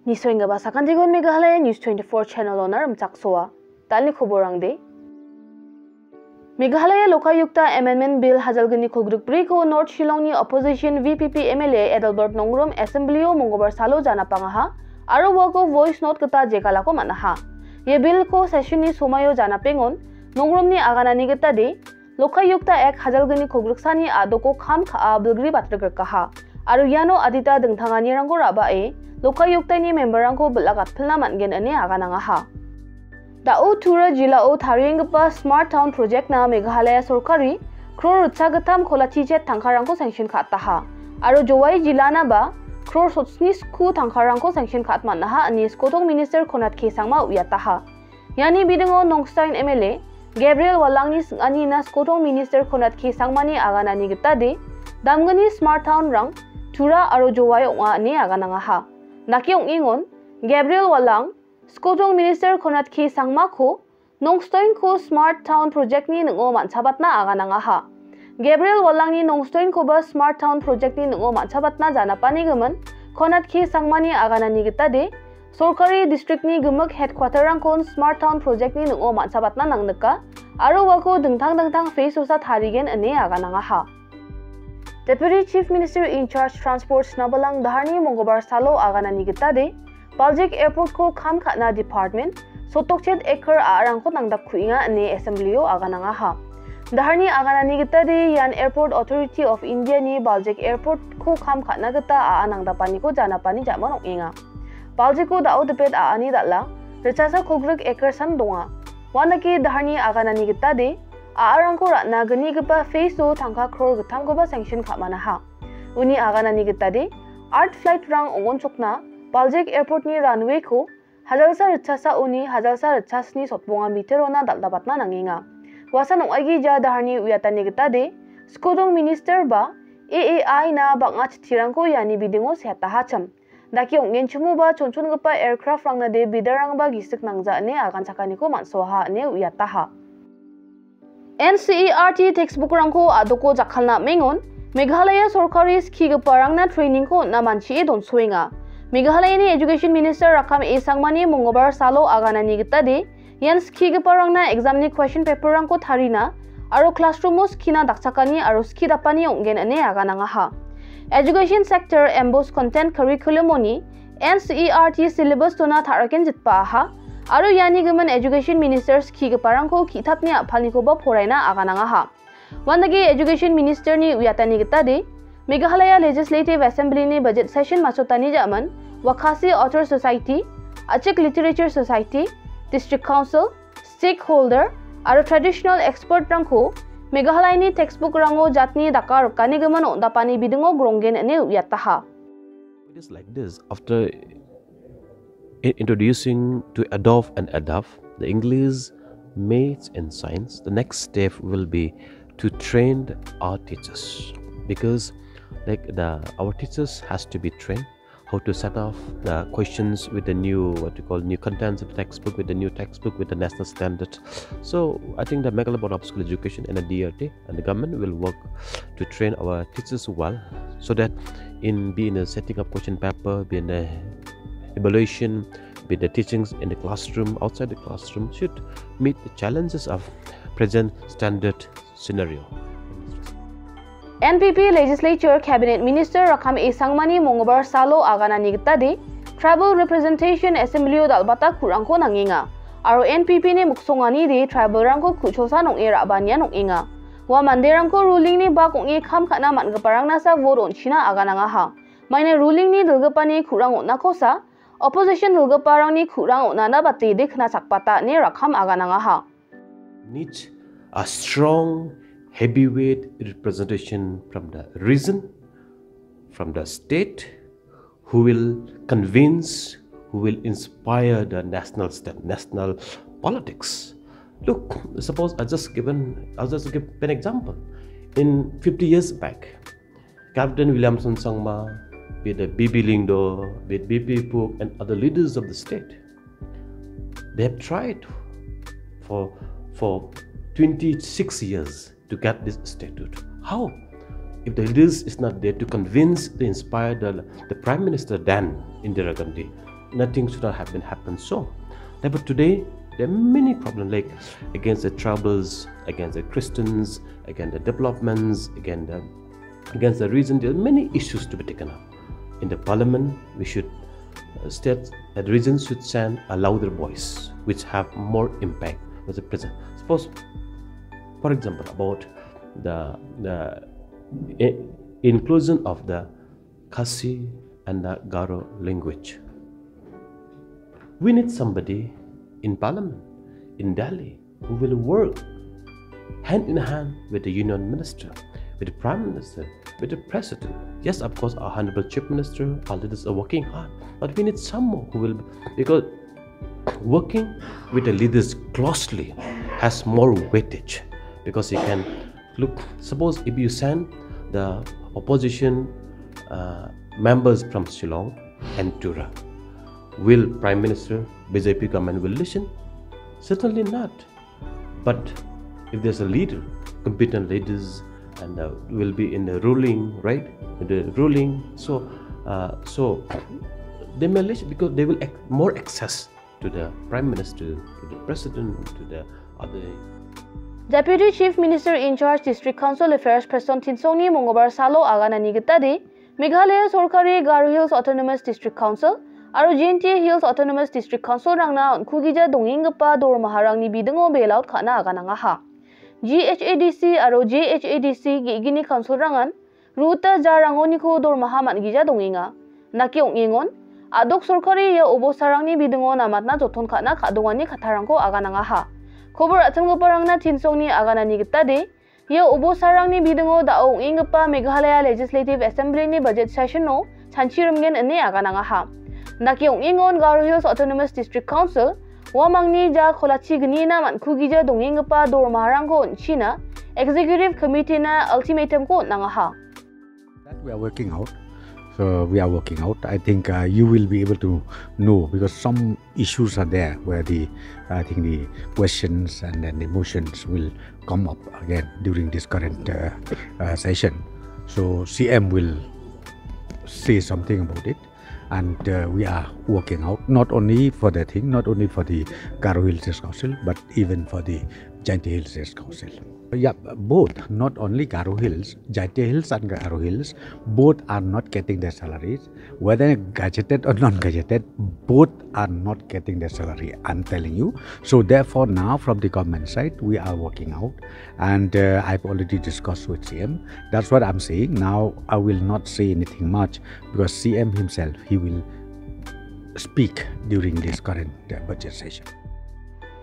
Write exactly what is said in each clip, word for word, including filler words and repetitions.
Nisoenggipa sakantikon Meghalaya News twenty-four channel-ona rimchaksoa. Dalni koborangde. Meghalaya Lokayukta Amendment Bill hajalgni kolgrikbriko North Shillongni opposition V P P M L A Adelbert Nongrum Assembly-o Monggobar salo janapangaha aro uako voice note gita jekalako man·aha. Ia bill-ko session-ni somaio janapengon Nongrumni aganani gitade Lokayukta Act hajalgni kolgriksani a·doko kam ka·a bilgri batrikrikaha. Aro iano adita dingtanganirangko ra·bae Lokayuktani member-rangko bilak atpilna man·gen ine aganangaha. Da·o Tura jilao tarienggipa Smart Town Project-na Meghalaya sorkari crore ritchagittam kolachi chet tangkarangko sanction ka·ataha. Aro Jowai jilanaba crore sotsni sku tangkarangko sanction ka·atmanaha ine skotong minister Konrad K Sangma uiataha. Iani bidingo Nongstoin M L A Gabriel Walangni sing·anina skotong minister Konrad K Sangmani aganani gitade damgni Smart Town-rang Tura aro Jowai ong·a ine aganangaha. Dake ong·engon Gabriel Walang, skotong minister Konrad K Sangmako Nongstoinko Smart Town Project-ni ning·o man·chabatna aganangaha. Gabriel Walangni Nongstoinkoba Smart Town Project-ni ning·o man·chabatna janapanigimin Konrad K Sangmani aganani gitade sorkari district-ni gimik headquarter-rangkon Smart Town Project-ni ning·o man·chabatna nangnika aro uako dingtang dingtang phase-osa tarigen ine aganangaha. Deputy Chief Minister in charge Transport Sinabalang Daharni Monggobar salo aganani gitade Baljek Airport-ko kam ka·na department sotokchet acre a·arangko nangdakkuenga ine Assembly-o aganangaha. Daharni aganani gitade ian Airport Authority of India-ni Baljek Airport-ko kam ka·na gita a·a nangdapaniko janapani ja·man ong·enga. Baljeko da·o dipet a·ani dal·a, ritchasa kolgrik acre san donga. Uandake daharni aganani gitade a·arangko ra·na gnigipa phase-o tangka crore gittamkoba sanction ka·manaha. Uni aganani gitade art flight-rang ong·onchokna Baljek Airport-ni runway-ko hajalsa ritchasaoni hajalsa ritchasni sotbonga meter-ona dal·dabatna nangenga. Uasan ong·aigija daharni uiatani gitade skotong minister ba A A I-na bang·a chittirangko iani bidingo seatahachim. Dake ong·genchimoba chonchongipa aircraft-rangnade bidarangba gisik nangja ine aganchakaniko man·soaha ine uiataha. N C E R T textbook-rangko a·doko jakkalna amengon Meghalaya sorkari skigiparangna training-ko on·na manchie donsoenga. Meghalayani Education Minister Rakkam A Sangmani Monggobar salo aganani gitade ian skigiparangna exam-ni question paper-rangko tarina aro classroom-o skina dakchakani aro skidapani ong·gen ine aganangaha. Education sector ambos content curriculum-oni N C E R T syllabus-ona ta·rakenjitbaaha aro iani gimin Education Minister skigiparangko ki·tapni a·palnikoba poraina aganangaha. Uandake Education Minister-ni uiatani gitade, Meghalaya Legislative Assembly-ni budget session matchotani ja·man, Wakasi Author Society, Achik Literature Society, District Council, stakeholder aro traditional expert-rangko Meghalayani textbook-rango jatni daka rikanigimin on·dapani bidingo gronggen ine uiataha. It is like this. After i- introducing to adopt and adapt the English, maths, and science, the next step will be to train our teachers, because, like, the our teachers has to be trained how to set off the questions with the new, what you call, new contents of the textbook, with the new textbook, with the national standard. So I think the Meghalaya Board of School Education and the D R T and the government will work to train our teachers well, so that in, be in the setting of question paper, be in the evaluation, be the teachings in the classroom, outside the classroom, should meet the challenges of present standard scenario. N P P Legislature Cabinet Minister Rakkam A Sangmani Monggobar salo aganani gitade Tribal Representation Assembly-o dal·bata ku·rangko nangenga. Aro N P P-ni miksonganide tribal-rangko ku·chosan ong·e ra·banian ong·enga. Ua manderangko ruling-ni bak ong·e kam ka·na man·giparangnasa vote on·china aganangaha. Maina ruling-ni dilgipani ku·rang on·akosa, opposition dilgiparangni ku·rang on·ana batede knachakbata ine Rakkam aganangaha. Need a strong, heavyweight representation from the region, from the state, who will convince, who will inspire the national stand, national politics. Look, suppose I just given, I'll just give an example. In fifty years back, Captain Williamson Sangma, with the B B Lyngdoh, with B P Puk and other leaders of the state, they have tried for, for twenty-six years to get this statute. How? If the leaders is not there to convince, to inspire the, the Prime Minister then, Indira Gandhi, nothing should not have been happened so. But today, there are many problems, like against the tribals, against the Christians, against the developments, against the, against the region. There are many issues to be taken up. In the parliament, we should uh, state that regions should send a louder voice, which have more impact with the present. Suppose, for example, about the, the i- inclusion of the Khasi and the Garo language. We need somebody in parliament, in Delhi, who will work hand in hand with the union minister, with the prime minister, with the president. Yes, of course, our honorable chief minister, our leaders are working hard, but we need someone who will, because working with the leaders closely has more weightage, because you can look, suppose if you send the opposition uh, members from Shillong and Tura, will Prime Minister, B J P government will listen? Certainly not. But if there's a leader, competent leaders, and uh, will be in the ruling, right? In the ruling, so uh, so they may listen because they will ac- more access to the prime minister, to the president, to the other. Deputy Chief Minister in charge District Council Affairs Prestone Tynsongni Mongolbar salo aganani gitade, Meghalaya sorkari Garo Hills Autonomous District Council aro Jaintia Hills Autonomous District Council-rangna on·kugija dongenggipa dormaharangni bidingo bailout ka·na aganangaha. G H A D C aro J H A D C ge·gni council-rangan ruta jarangoniko dormaha man·gija dongenga. Nake ong·engon, a·dok sorkari ia obosarangni bidingo namatna joton ka·na ka·dongani kattarangko aganangaha. Kobor a·chonggiparangna Tynsongni aganani gitade, ia obosarangni bidingo da·o ong·enggipa Meghalaya Legislative Assembly-ni budget session-o chanchirimgen ine aganangaha. Nake ong·engon Garo Hills Autonomous District Council, uamangni ja kolachi gnina man·kugija dongenggipa dormaharangko on·china Executive Committee-na ultimatum-ko on·angaha. That we are working out. So we are working out. I think uh, you will be able to know because some issues are there where the I think the questions and then the motions will come up again during this current uh, uh, session. So C M will say something about it, and uh, we are working out not only for the thing, not only for the Garo Hills District Council, but even for the Jaintia Hills District Council. Yeah, both, not only Garo Hills, Jaintia Hills and Garo Hills, both are not getting their salaries. Whether gazetted or non-gazetted, both are not getting their salary. I'm telling you. So therefore, now from the government side, we are working out, and uh, I've already discussed with C M. That's what I'm saying. Now I will not say anything much because C M himself, he will speak during this current uh, budget session.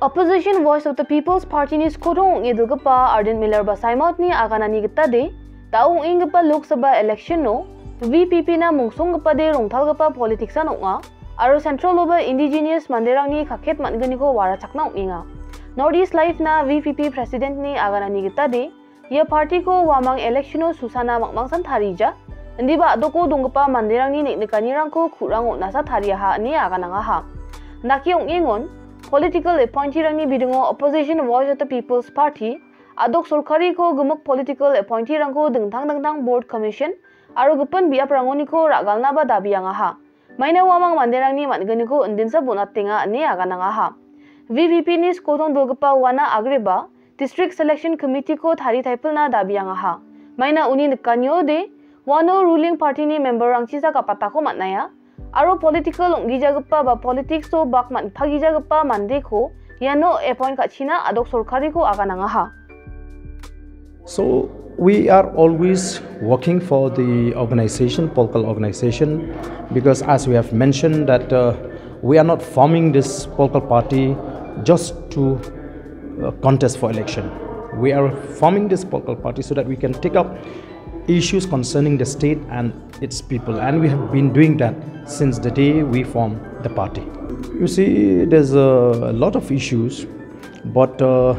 Opposition Voice of the People's Party-ni skodong ong·e dilgipa Ardent Miller Basaiawmoutni aganani gitade, da·o ong·enggipa Lok Sabha election-o V P P-na mungsunggipade rongtalgipa politics-an ong·a, aro Central-oba indigenous manderangni kaket man·gniko warachakna ong·enga. North East Live-na V P P president-ni aganani gitade, ia party-ko uamang election-o susana mangmangsan tarija, indiba a·doko donggipa manderangni neng·nikanirangko ku·rang on·asa tariaha ine aganangaha. Nake ong·engon, political appointee-rangni bidingo Opposition Voice of the People's Party, a·dok sorkariko gimik political appointee-rangko dingtang dingtang board commission aro gipin biaprangoniko ra·galnaba dabiangaha. Maina uamang manderangni man·gniko indinsa bon·atenga ine aganangaha. V P P-ni skodong dilgipa uana agreba District Selection Committee-ko tari taipilna dabiangaha. Maina uni nikaniode, uano ruling party-ni member-rangchisa gapatako man·aia, aro political ong·gijagipa ba politics-o bak man·pagijagipa mandeko iano appoint ka·china a·dok sorkariko aganangaha. So we are always working for the organization, political organization, because as we have mentioned that uh, we are not forming this political party just to uh, contest for election. We are forming this political party so that we can take up issues concerning the state and its people, and we have been doing that since the day we formed the party. You see, there's a lot of issues, but uh,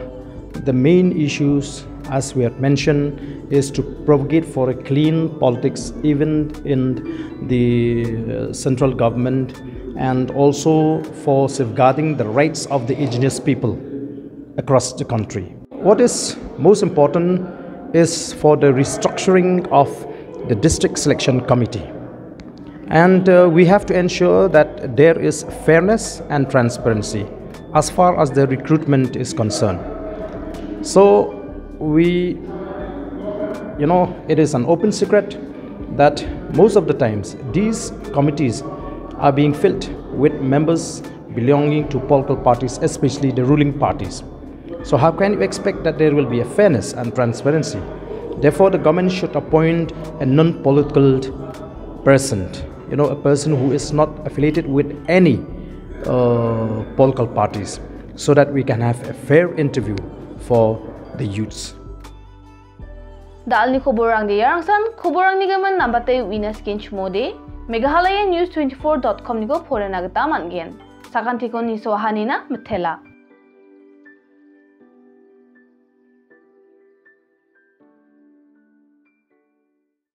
the main issues, as we have mentioned, is to propagate for a clean politics even in the uh, central government, and also for safeguarding the rights of the indigenous people across the country. What is most important is for the restructuring of the District Selection Committee. And uh, we have to ensure that there is fairness and transparency as far as the recruitment is concerned. So we, you know, it is an open secret that most of the times these committees are being filled with members belonging to political parties, especially the ruling parties. So how can you expect that there will be a fairness and transparency? Therefore, the government should appoint a non-political person, you know, a person who is not affiliated with any uh, political parties, so that we can have a fair interview for the youths. Dalni koborang de yarangsan, koborangni gimin nambate uina skin chmode, Meghalaya News twenty-four dot com niko porena gita man·gen. Sakantiko niso hanina mitela.